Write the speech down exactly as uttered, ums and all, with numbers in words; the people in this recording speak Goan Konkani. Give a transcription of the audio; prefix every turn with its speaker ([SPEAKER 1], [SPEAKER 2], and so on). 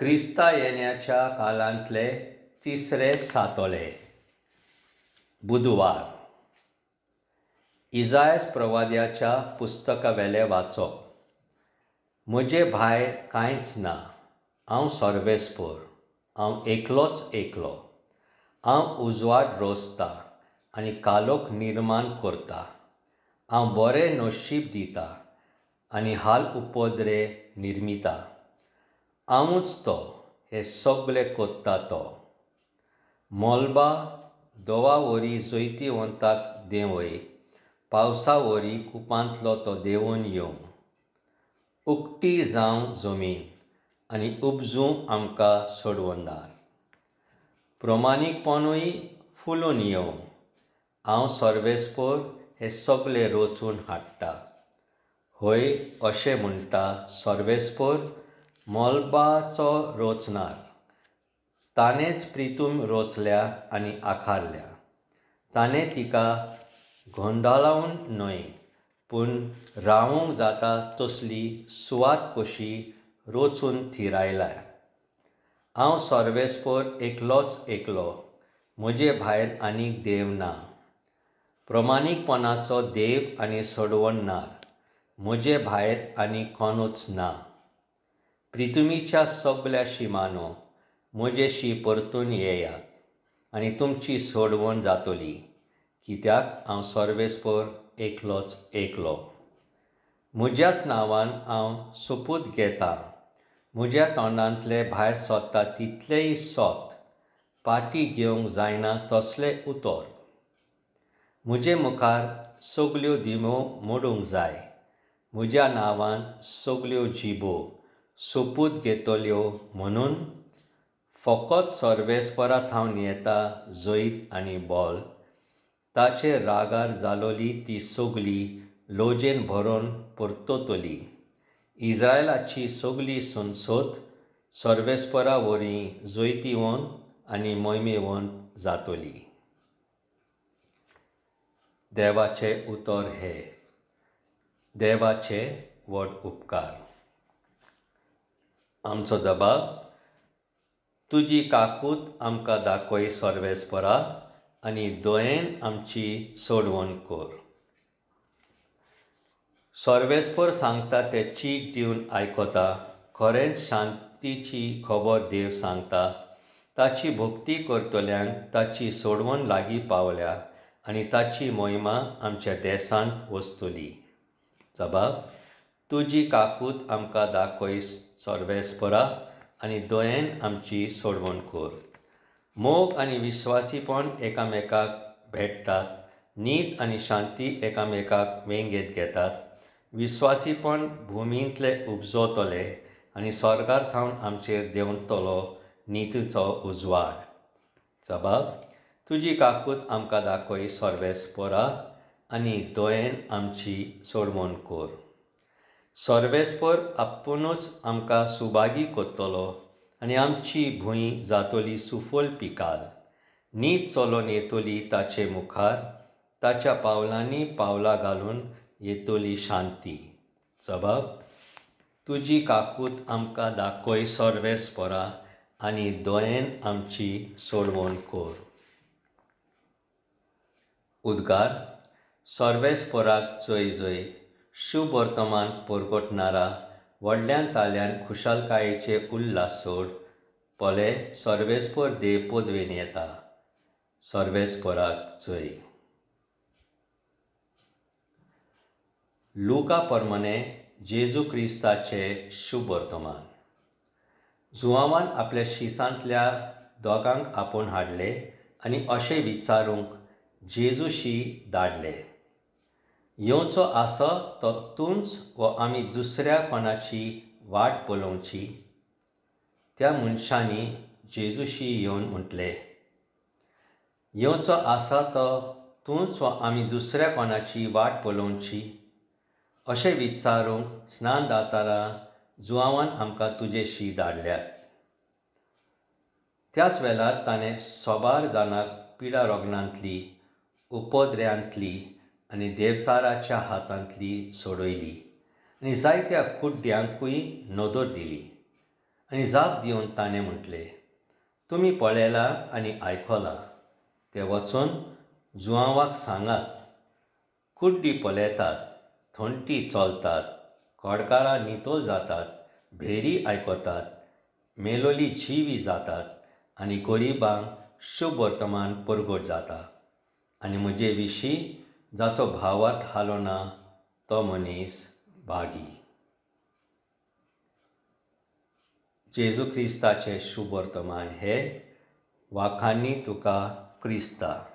[SPEAKER 1] क्रिस्ता येण्याच्या कालांतले तिसरे सातोले बुधवार. इजायस प्रवाद्याच्या पुस्तकावेले वाचप. म्हजे भायर कांयच ना, हांव सर्वेस्पोर, हांव एकलोच एकलो. हांव उजवाड रोसता आनी कालोख निर्माण करता. हांव बरें नशीब दिता आनी हाल उपद्रे निर्मिता. हांवूच तो हें सगलें कोत्ता तो. मोलबा दोवा वरी जैतिवंताक देंवय, पावसा वरी कुपांतलो तो देंवून येवं. उकती जावं जमीन आनी उपजूं आमकां सोडवणदार. प्रमाणीकपणूय फुलून येवं. हांव सर्वेस्पोर हें सगलें रचून हाडटा. हय, अशें म्हणटा सर्वेस्पोर मोलबाचो रचणार. ताणेंच प्रितूम रचल्या आनी आकारल्या. ताणें तिका गोंदळावन न्हय पूण रावूंक जाता तसली सुवात कशी रचून थिरायल्या. हांव सर्वेस्पोर एकलोच एकलो, म्हजे भायर आनीक देव ना. प्रमाणीकपणाचो देव आनी सोडवणदार, म्हजे भायर आनी कोणूच ना. प्रितुमीच्या सगल्या शिमानो म्हजेशी परतून येयात आनी तुमची सोडवण जातली, कित्याक हांव सर्वेस्पोर एकलोच एकलो. म्हज्याच नांवान हांव सोपूत घेतां, म्हज्या तोंडांतलें भायर सरता तितलेंय सत, पाटी घेवंक जायना तसलें उतर. म्हजे मुखार सगल्यो दिमो मोडूंक जाय, म्हज्या नांवान सगल्यो जिबो सोपूत घेतल्यो म्हणून. फकत सर्वेस्परा थावन येता जैत आनी बल, ताचे रागार जालोली ती सगली लजेन भरून परततली. इस्रायलाची सगली संसद सर्वेस्परा वरी जैतिवंत आनी मोहिमेवंत जातली. देवाचें उतर हें. देवाचे व्हड उपकार. आमचो जबाब. तुजी काकूत आमकां दाखय सर्वेस्परा आनी दयेन आमची सोडवण कर. सर्वेस्पोर सांगता तें चीट दिवन आयकता. खरेंच शांतीची खबर देव सांगता. ताची भक्ती करतल्यांक ताची सोडवण लागीं पावल्या आनी ताची मोहिमा आमच्या देशांत वसतली. जबाब. तुजी काकूत आमकां दाखय सर्वेस्परा आनी दयेन आमची सोडवण कर. मोग आनी विश्वासीपण एकामेकाक भेट्टात. नीत आनी शांती एकामेकाक वेंगेंत घेतात. विश्वासीपण भुमींतलें उपजतलें आनी स्वर्गार थावन आमचेर देंवतलो नितीचो उजवाड. जबाब. तुजी काकूत आमकां दाखय सर्वेस्परा आनी दयेन आमची सोडवण कर. सर्वेस्पोर आपुणूच आमकां सुभागी करतलो आनी आमची भूंय जातली सुफल पिकाल. नीत चलोवन येतली ताचे मुखार, ताच्या पावलांनी पावलां घालून येतली शांती. जबाब. तुजी काकूत आमकां दाखय सर्वेस्परा आनी दयेन आमची सोडवण कर. उद्गार. सर्वेस्पराक जय जय. शुभ वर्तमान परगटणारा व्हडल्यान ताल्यान खुशालकायेचे उल्हास सोड. पळय, सर्वेस्पोर देव पदवेन येता. सर्वेस्पराक जय. लुका परमने जेजू क्रिस्ताचें शुभ वर्तमान. जुआंवान आपल्या शिसांतल्या दोगांक आपोवन हाडले आनी अशें विचारूंक जेजूशी धाडले, येवचो आसा तो तूंच वो आमी दुसऱ्या कोणाची वाट पळोवची? त्या मनशांनी जेजूशी येवन म्हटलें, येवचो आसा तो तूंच वो आमी दुसऱ्या कोणाची वाट पळोवची? अशें विचारूंक स्नान दातारा जुआंवान आमकां तुजेशी धाडल्यात. त्याच वेळार ताणें सोबार जाणांक पिडा रोगणांतली, उपद्र्यांतली आनी देवचाराच्या हातांतली सोडयली आनी जायत्या कुड्ड्यांकूय नदर दिली. आनी जाप दिवन ताणें म्हटलें, तुमी पळयलां आनी आयकलां तें वचून जुआंवाक सांगात. कुड्डी पळयतात, थोंटी चलतात, खोडकारां नितळ जातात, भेरी आयकतात, मेलोली जिवी जातात आनी गरिबांक शुभ वर्तमान परगट जाता. आनी म्हजे विशीं जाचो भावार्थ हालो ना तो मनीस भागी. जेजू क्रिस्ताचें शुभ वर्तमान हें वाखांनी तुका क्रिस्ता.